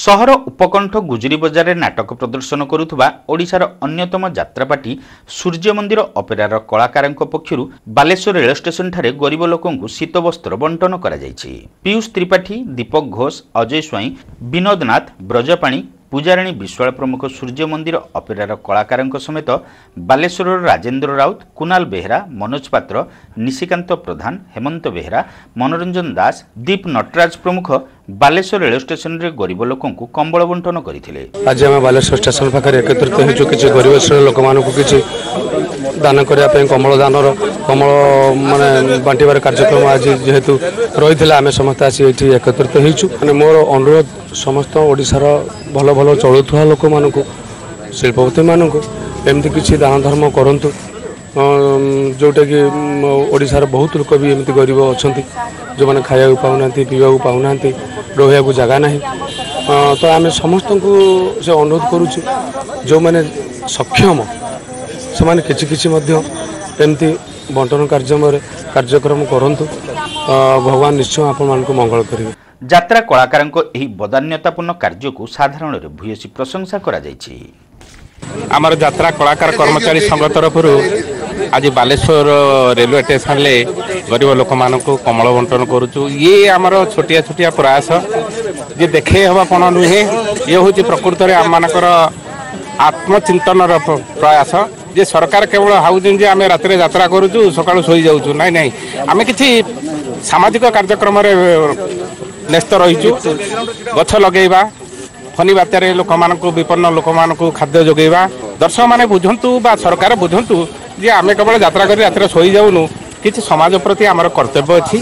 ସହର ଉପକଣ୍ଠ ଗୁଜୁରୀ ବଜାରରେ ନାଟକ ପ୍ରଦର୍ଶନ କରୁଥିବା ଓଡ଼ିଶାର ଅନ୍ୟତମ ଯାତ୍ରାପାର୍ଟି ସୂର୍ଯ୍ୟମନ୍ଦିର ଅପେରାର କଳାକାରଙ୍କ ପକ୍ଷରୁ ବାଲେଶ୍ୱର ରେଳ ଷ୍ଟେସନଠାରେ ଗରିବ ଲୋକଙ୍କୁ ଶୀତବସ୍ତ୍ର ବଣ୍ଟନ କରାଯାଇଛି। ପୀୟୁଷ ତ୍ରିପାଠୀ, ଦୀପକ ଘୋଷ, ଅଜୟ ସ୍ୱାଇଁ, ବିନୋଦ ନାଥ, ବ୍ରଜପାଣି, ପୂଜାରାଣୀ ବିଶ୍ୱାଳ ପ୍ରମୁଖ ସୂର୍ଯ୍ୟମନ୍ଦିର ଅପେରାର କଳାକାରଙ୍କ ସମେତ ବାଲେଶ୍ୱରର ରାଜେନ୍ଦ୍ର ରାଉତ, କୁନାଲ ବେହେରା, ମନୋଜ ପାତ୍ର, ନିଶିକାନ୍ତ ପ୍ରଧାନ, ହେମନ୍ତ ବେହେରା, ମନୋରଞ୍ଜନ ଦାସ, ଦୀପ ନଟରାଜ ପ୍ରମୁଖ ବାଲେଶ୍ୱର ରେଳ ଷ୍ଟେସନରେ ଗରିବ ଲୋକଙ୍କୁ କମ୍ବଳ ବଣ୍ଟନ କରିଥିଲେ। ଆଜି ଆମେ ବାଲେଶ୍ୱର ଷ୍ଟେସନ ପାଖରେ ଏକତ୍ରିତ ହେଇଛୁ କିଛି ଗରିବ ଶ୍ରେଣୀର ଲୋକମାନଙ୍କୁ କିଛି ଦାନ କରିବା ପାଇଁ। କମ୍ବଳ ଦାନର କମ୍ବଳ ମାନେ ବାଣ୍ଟିବାର କାର୍ଯ୍ୟକ୍ରମ ଆଜି ଯେହେତୁ ରହିଥିଲା, ଆମେ ସମସ୍ତେ ଆସି ଏଇଠି ଏକତ୍ରିତ ହେଇଛୁ। ମାନେ ମୋର ଅନୁରୋଧ ସମସ୍ତ ଓଡ଼ିଶାର ଭଲ ଭଲ ଚଳୁଥିବା ଲୋକମାନଙ୍କୁ, ଶିଳ୍ପପତିମାନଙ୍କୁ, ଏମିତି କିଛି ଦାନ ଧର୍ମ କରନ୍ତୁ, ଯେଉଁଟାକି ଓଡ଼ିଶାର ବହୁତ ଲୋକ ବି ଏମିତି ଗରିବ ଅଛନ୍ତି, ଯେଉଁମାନେ ଖାଇବାକୁ ପାଉନାହାନ୍ତି, ପିଇବାକୁ ପାଉନାହାନ୍ତି, ରହିବାକୁ ଜାଗା ନାହିଁ। ତ ଆମେ ସମସ୍ତଙ୍କୁ ସେ ଅନୁରୋଧ କରୁଛୁ, ଯେଉଁମାନେ ସକ୍ଷମ ସେମାନେ କିଛି କିଛି ମଧ୍ୟ ଏମିତି ବଣ୍ଟନ କାର୍ଯ୍ୟକ୍ରମରେ କାର୍ଯ୍ୟକ୍ରମ କରନ୍ତୁ। ଭଗବାନ ନିଶ୍ଚୟ ଆପଣମାନଙ୍କୁ ମଙ୍ଗଳ କରିବେ। ଯାତ୍ରା କଳାକାରଙ୍କ ଏହି ବଦାନ୍ୟତାପୂର୍ଣ୍ଣ କାର୍ଯ୍ୟକୁ ସାଧାରଣରେ ଭୂୟସୀ ପ୍ରଶଂସା କରାଯାଇଛି। ଆମର ଯାତ୍ରା କଳାକାର କର୍ମଚାରୀ ସଂଘ ତରଫରୁ ଆଜି ବାଲେଶ୍ୱର ରେଲୱେ ଷ୍ଟେସନରେ ଗରିବ ଲୋକମାନଙ୍କୁ କମ୍ବଳ ବଣ୍ଟନ କରୁଛୁ। ଇଏ ଆମର ଛୋଟିଆ ଛୋଟିଆ ପ୍ରୟାସ ଯେ ଦେଖେଇ ହେବା କ'ଣ ନୁହେଁ, ଇଏ ହେଉଛି ପ୍ରକୃତରେ ଆମମାନଙ୍କର ଆତ୍ମଚିନ୍ତନର ପ୍ରୟାସ ଯେ ସରକାର କେବଳ ଭାବୁଛନ୍ତି ଯେ ଆମେ ରାତିରେ ଯାତ୍ରା କରୁଛୁ, ସକାଳୁ ଶୋଇଯାଉଛୁ। ନାଇଁ ନାଇଁ, ଆମେ କିଛି ସାମାଜିକ କାର୍ଯ୍ୟକ୍ରମରେ ନ୍ୟସ୍ତ ରହିଛୁ। ଗଛ ଲଗେଇବା, ଫନି ବାତ୍ୟାରେ ଲୋକମାନଙ୍କୁ, ବିପନ୍ନ ଲୋକମାନଙ୍କୁ ଖାଦ୍ୟ ଯୋଗାଇବା। ଦର୍ଶକମାନେ ବୁଝନ୍ତୁ ବା ସରକାର ବୁଝନ୍ତୁ ଯେ ଆମେ କେବଳ ଯାତ୍ରା କରି ରାତିରେ ଶୋଇଯାଉନୁ, କିଛି ସମାଜ ପ୍ରତି ଆମର କର୍ତ୍ତବ୍ୟ ଅଛି।